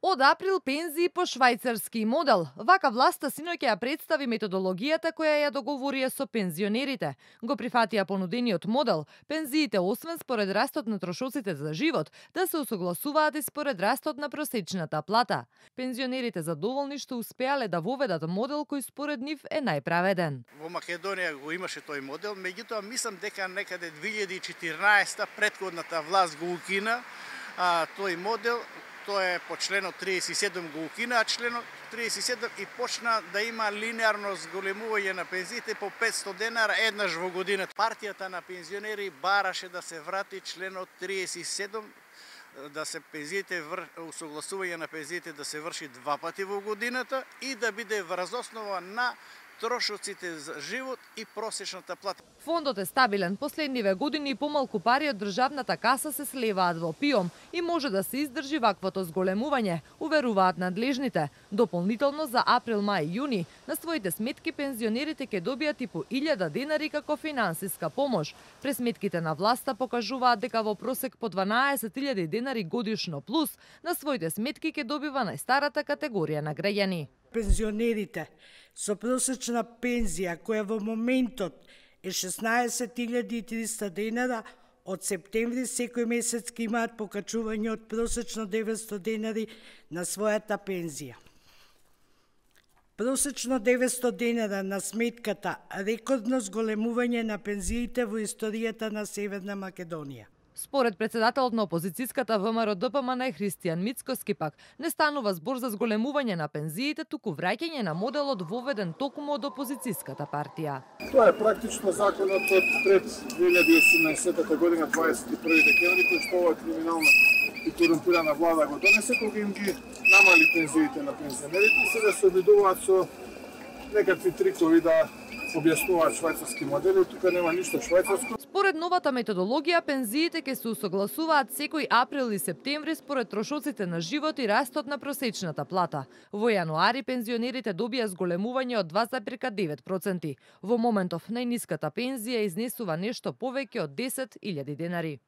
Од април пензии по швајцарски модел. Вака власта синоќа ја представи методологијата која ја договорија со пензионерите. Го прифатија понудениот модел, пензиите освен според растот на трошоците за живот, да се усогласуваат и според растот на просечната плата. Пензионерите задоволни што успеале да воведат модел кој според нив е најправеден. Во Македонија го имаше тој модел, меѓутоа мислам дека некаде 2014 претходната власт го укина тој модел. Тоа е по членот 37 го укина, а членот 37 и почна да има линеарно зголемување на пензиите по 500 денара еднаш во годината. Партијата на пензионери бараше да се врати членот 37, да се пензиите усогласување на пензиите да се врши два пати во годината и да биде врз основа на трошоците за живот и просечната плата. Фондот е стабилен. Последниве години помалку пари од државната каса се слеваат во ПИОМ и може да се издржи ваквото зголемување, уверуваат надлежните. Дополнително за април, мај и јуни на своите сметки пензионерите ќе добијат и по 1000 денари како финансиска помош. Пресметките на власта покажуваат дека во просек по 12.000 денари годишно плюс на своите сметки ќе добива најстарата категорија на граѓани. Пензионерите со просечна пензија која во моментот е 16.300 денара, од септември секој месец ќе имаат покачување од просечно 900 денари на својата пензија. Просечно 900 денара на сметката рекордно зголемување на пензиите во историјата на Северна Македонија. Според председателот на опозицијската ВМРО-ДПМН Христијан Мицкоски пак, не станува збор за зголемување на пензиите, туку враќање на моделот воведен токму од опозицијската партија. Тоа е практично законот од пред 2018 година, 21 декември, кој што ова криминална и корумпирана влада го донесе, кога им ги намали пензиите на пензионерите и сега се обидуваат со некакви трикови да објаснуваат швајцарски модели, тука нема ништо швајцарско. Според новата методологија, пензиите ќе се усогласуваат секој април и септември според трошоците на живот и растот на просечната плата. Во јануари пензионерите добија зголемување од 2,9%. Во моментов најниската пензија изнесува нешто повеќе од 10.000 денари.